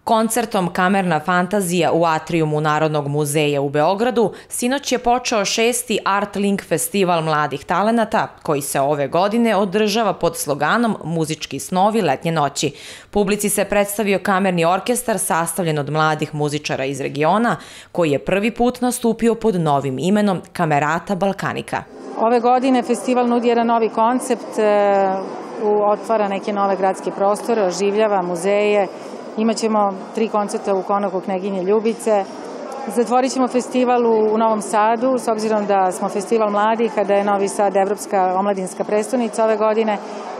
Koncertom Kamerna fantazija u atrijumu Narodnog muzeja u Beogradu sinoć je počeo 6. Art Link festival mladih talenata koji se ove godine održava pod sloganom Muzički snovi letnje noći. Publici se predstavio kamerni orkestar sastavljen od mladih muzičara iz regiona koji je prvi put nastupio pod novim imenom Kamerata Balkanika. Ove godine festival nudi jedan novi koncept, otvara neke nove gradske prostore, oživljava muzeje. Imaćemo 3 koncerta u Konaku Kneginje Ljubice. Zatvorit ćemo festival u Novom Sadu, s obzirom da smo festival mladih, a da je Novi Sad evropska omladinska prestonica ove godine,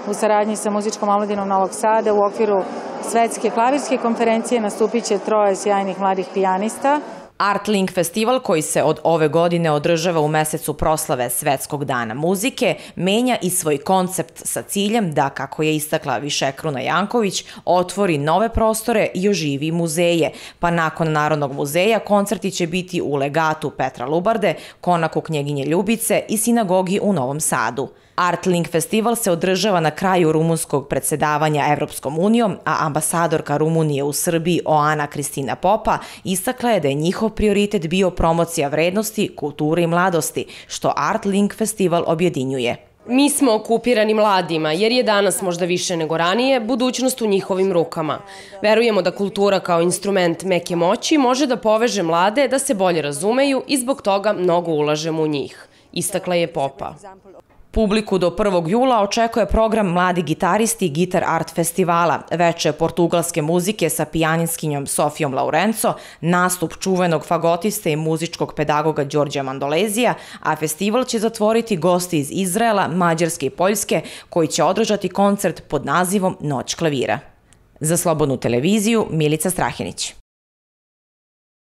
u saradnji sa muzičkom omladinom Novog Sada u okviru svetske klavirske konferencije nastupit će 3 sjajnih mladih pijanista. Art Link festival koji se od ove godine održava u mesecu proslave Svetskog dana muzike menja i svoj koncept sa ciljem da, kako je istakla Višekruna Janković, otvori nove prostore i oživi muzeje, pa nakon Narodnog muzeja koncerti će biti u Legatu Petra Lubarde, Konaku Knjeginje Ljubice i Sinagogi u Novom Sadu. Art Link festival se održava na kraju rumunskog predsedavanja Evropskom unijom, a ambasadorka Rumunije u Srbiji Oana Kristina Popa istakla je da je njihov prioritet bio promocija vrednosti, kulture i mladosti, što Art Link festival objedinjuje. Mi smo okupirani mladima, jer je danas možda više nego ranije budućnost u njihovim rukama. Verujemo da kultura kao instrument meke moći može da poveže mlade da se bolje razumeju i zbog toga mnogo ulažemo u njih, istakla je Popa. Publiku do 1. jula očekuje program Mladi gitaristi Gitar Art festivala, veče portugalske muzike sa pijaninskinjom Sofijom Laurenco, nastup čuvenog fagotiste i muzičkog pedagoga Đorđa Mandolezija, a festival će zatvoriti gosti iz Izraela, Mađarske i Poljske koji će održati koncert pod nazivom Noć klavira. Za Slobodnu televiziju, Milica Strahinić.